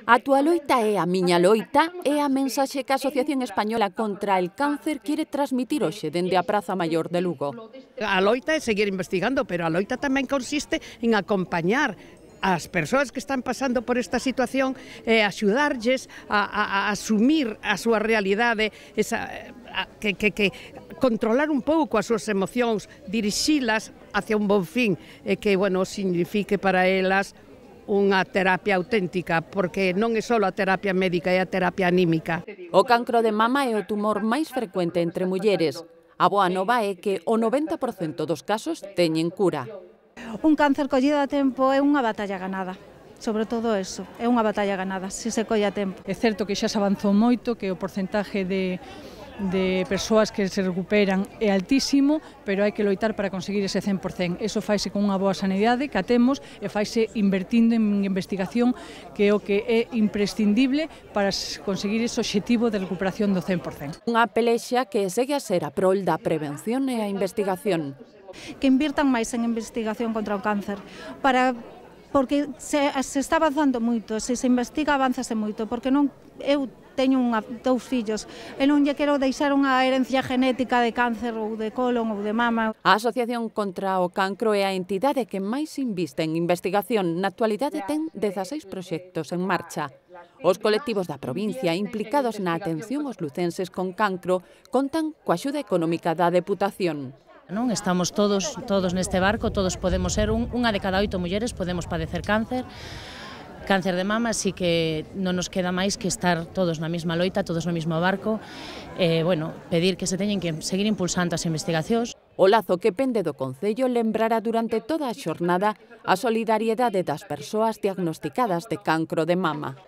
A túa loita é a miña loita é a mensaxe que a Asociación Española contra el Cáncer quere transmitir hoxe dende a Praza Maior de Lugo. A loita é seguir investigando, pero a loita tamén consiste en acompañar as persoas que están pasando por esta situación e axudarlles a asumir a súa realidade, que controlar un pouco as súas emocións, dirixilas hacia un bon fin e que, bueno, signifique para elas unha terapia auténtica, porque non é só a terapia médica, é a terapia anímica. O cancro de mama é o tumor máis frecuente entre mulleres. A boa nova é que o 90% dos casos teñen cura. Un cáncer collido a tempo é unha batalla ganada. Sobre todo eso, é unha batalla ganada, se se colle a tempo. É certo que xa se avanzou moito, que o porcentaje de persoas que se recuperan é altísimo, pero hai que loitar para conseguir ese 100%. Eso faise con unha boa sanidade que a temos e faise invertindo en investigación, que é o que é imprescindible para conseguir ese obxectivo de recuperación do 100%. Unha pelexa que segue a ser a prol da prevención e a investigación. Que invirtan máis en investigación contra o cáncer, porque se está avanzando moito, se investiga avanzase moito, porque non eu teño dous fillos e non lle quero deixar unha herencia genética de cáncer ou de colon ou de mama. A Asociación contra o Cancro é a entidade que máis inviste en investigación. Na actualidade ten 16 proxectos en marcha. Os colectivos da provincia implicados na atención aos lucenses con cancro contan coa axuda económica da Deputación. Non estamos todos neste barco, todos podemos ser, unha de cada 8 mulleres podemos padecer cáncer de mama, así que non nos queda máis que estar todos na mesma loita, todos no mesmo barco, pedir que se teñen que seguir impulsando as investigacións. O lazo que pende do Concello lembrará durante toda a xornada a solidariedade das persoas diagnosticadas de cancro de mama.